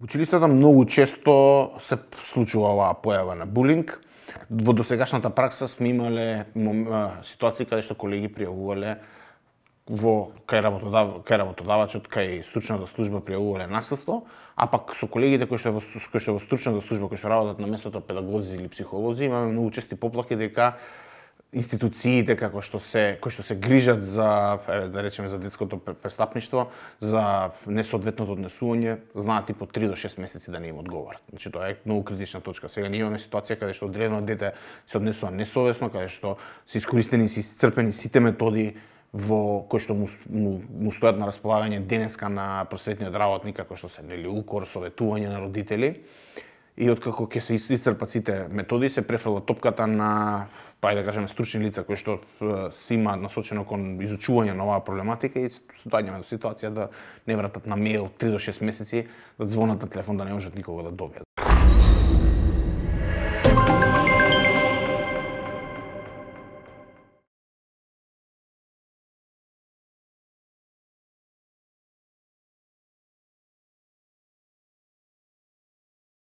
Училиштата многу често се случува оваа појава на булинг. Во досегашната пракса сме имале ситуации каде што колеги пријавувале кај работодавачот, кај стручната служба пријавувале насилство, а пак со колегите кои што во стручната служба кои што работат на местото педагози или психолози, имаме многу чести поплаки дека институциите кои што се грижат за, да речеме, за детското престапништво, за несоодветното однесување, знаат и по 3 до 6 месеци да не им одговорат. Значи тоа е многу критична точка. Сега ние имаме ситуација каде што одредено дете се однесува несовесно, каде што се искористени и исцрпени сите методи кои што му стојат на располагање денеска на просветниот работник, како што се укор, советување на родители. И откако ќе се исцрпат сите методи, се префрла топката на, да кажеме, стручни лица кои што се имаат насочено кон изучување на оваа проблематика и доаѓаме до ситуација да не вратат на мејл 3 до 6 месеци, да звонат на телефон да не можат никого да добијат.